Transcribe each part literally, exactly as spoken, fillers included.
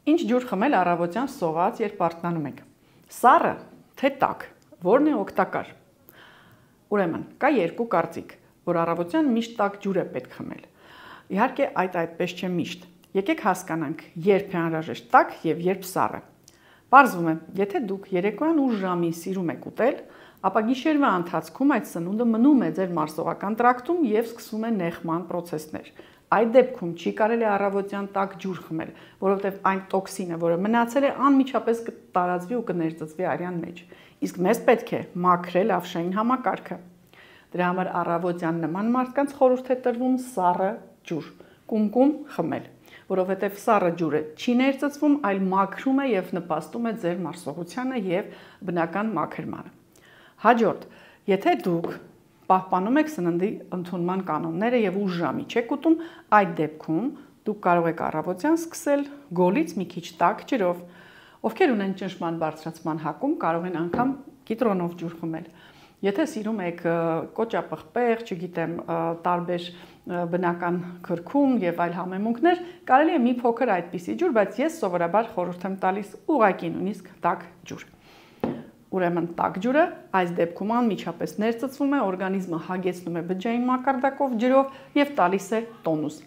Ինչ ջուր խմել առավոտյան սոված, երբ արթնանում եք։ Սառը, թե տաք, որն է օգտակար։ Ուրեմն, կա երկու կարծիք, որ առավոտյան միշտ տաք ջուր է պետք խմել։ Իհարկե, այդ այդպես չէ միշտ։ Եկեք հասկանանք, երբ է անհրաժեշտ տաք եւ երբ սառը։ Պարզվում է, եթե դուք երեկոյան ուշ ժամին սիրում եք ուտել, ապա գիշերվա ընթացքում այդ սնունդը մնում է ձեր մարսողական տրակտում եւ սկսում է նեղման պրոցեսներ։ Այդ դեպքում չի կարելի առավոտյան տաք ջուր խմել, որովհետև այն տոքսինը, որը մնացել է, անմիջապես կտարածվի ու կներծծվի արյան մեջ։ Իսկ մեզ պետք է մաքրել ավշային համակարգը։ Դրա համար առավոտյան նման մարդկանց խորհուրդ է տրվում սառը ջուր, կումկում խմել, որովհետև սառը ջուրը չի ներծծվում, այլ մաքրում է եւ նպաստում է ձեր մարսողությանը եւ բնական մաքրմանը։ Հաջորդ, եթե դուք պահպանում եք սննդի ընդունման կանոնները եւ ուշ ժամի չեք ուտում, այդ դեպքում դուք կարող եք առավոտյան սկսել գոլից մի քիչ տաք ջրով։ Ովքեր ունեն ճնշման բարձրացման հակում, կարող են անգամ կիտրոնով ջուր խմել։ Եթե սիրում եք կոճապղպեղ, չգիտեմ, տարբեր բնական քրքում եւ այլ համեմունքներ, կարելի է մի փոքր այդպիսի ջուր, բայց ես սովորաբար խորհուրդ եմ տալիս ուղղակի նույնիսկ տաք ջուր։ Ուրեմն տաք ջուրը այս դեպքում անմիջապես ներծծվում է, օրգանիզմը հագեցնում է բջջային մակարդակով ջրով եւ տալիս է տոնուս։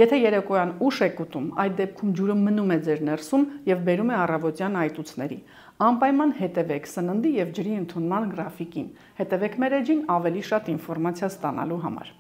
Եթե երեկոյան ուշ եք ուտում, այդ դեպքում ջուրը մնում է ձեր ներսում եւ բերում է առավոտյան այտուցների։ Անպայման հետևեք սննդի եւ ջրի ընդունման գրաֆիկին։ Հետևեք մեր էջին ավելի շատ ինֆորմացիա ստանալու համար։